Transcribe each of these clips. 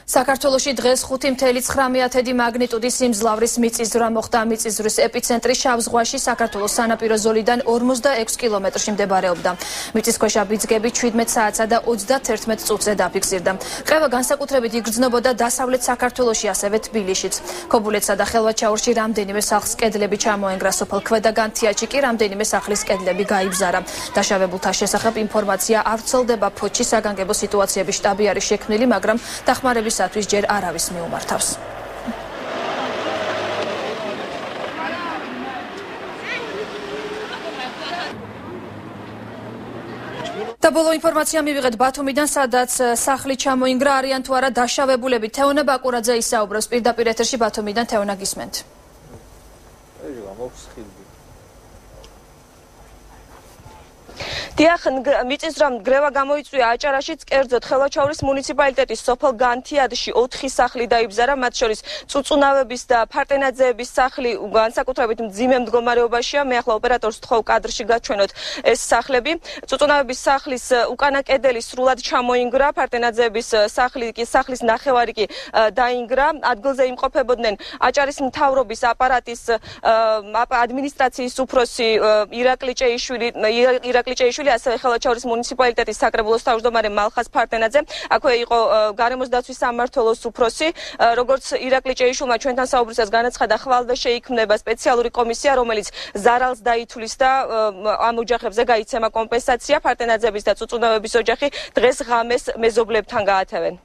საქართველოში დღეს 5.9 მაგნიტუდის სიმძლავრის მიწისძვრა მოხდა. მიწისძვრის ეპიცენტრი შავ ზღვაში საქართველოს სანაპირო ზოლიდან 46 კილომეტრში მდებარეობდა. მიწისქვეშა ბიძგები 17 საათსა და 31 წუთზე დაფიქსირდა. ყევა განსაკუთრებით იგრძნობოდა დასავლეთ საქართველოში, ასევე თბილისშიც. ქობულეთსა და ხელვაჩაურში რამდენიმე სახლს კედლები ჩამოენგრა. სოფელ ქვედაგანთიაჭი კი რამდენიმე სახლის კედლები გაიბზარა. დაშავებულთა შესახებ ინფორმაცია არ ვრცელდება. ფოთში საგანგებო სიტუაციების შტაბი არის შექმნილი, მაგრამ დახმარებისათვის ჯერ არავის მიუმართავს. და ბოლო ინფორმაცია მივიღეთ ბათუმიდან, სადაც სახლი ჩამოინგრა. არიან თუ არა დაშავებულები. თეონა ბაკურაძე ისაუბრებს პირდაპირ ეთერში ბათუმიდან. თეონა, გისმენთ. დიახ, მიწისძვრამ გრევა გამოიწვია აჭარაშიც, კერძოდ ხელვაჩაურის მუნიციპალიტეტის სოფელ განთიადში 4 სახლი დაიბზარა, მათ შორის წუწუნავების და ფარტენაძეების სახლი განსაკუთრებით მძიმე მდგომარეობაშია. მე ახლა ოპერატორს ვთხოვ კადრში გაჩვენოთ ეს სახლები. წუწუნავების სახლის უკანა კედელი სრულად ჩამოინგრა, ფარტენაძეების სახლის ნახევარი კი დაინგრა. ადგილზე იმყოფებოდნენ აჭარის მთავრობის აპარატის ადმინისტრაციის უფროსი ირაკლი ჭეიშვილი, ასევე ხელვაჩაურის მუნიციპალიტეტის საკრებულოს თავმჯდომარე მალხაზ ფარტენაძე. აქვე იყო გარემოს დაცვის სამმართველოს უფროსი. როგორც ირაკლი ჭეიშვილმა ჩვენთან საუბრისას განაცხადა, ხვალვე შეიქმნება სპეციალური კომისია, რომელიც ზარალს დაითვლის და ამ ოჯახებზე გაიცემა კომპენსაცია. ფარტენაძების და წუწუნავების ოჯახი დღეს ღამეს მეზობლებთან გაათევენ.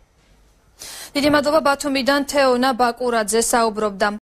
დიდი მადლობა. ბათუმიდან თეონა ბაკურაძე საუბრობდა.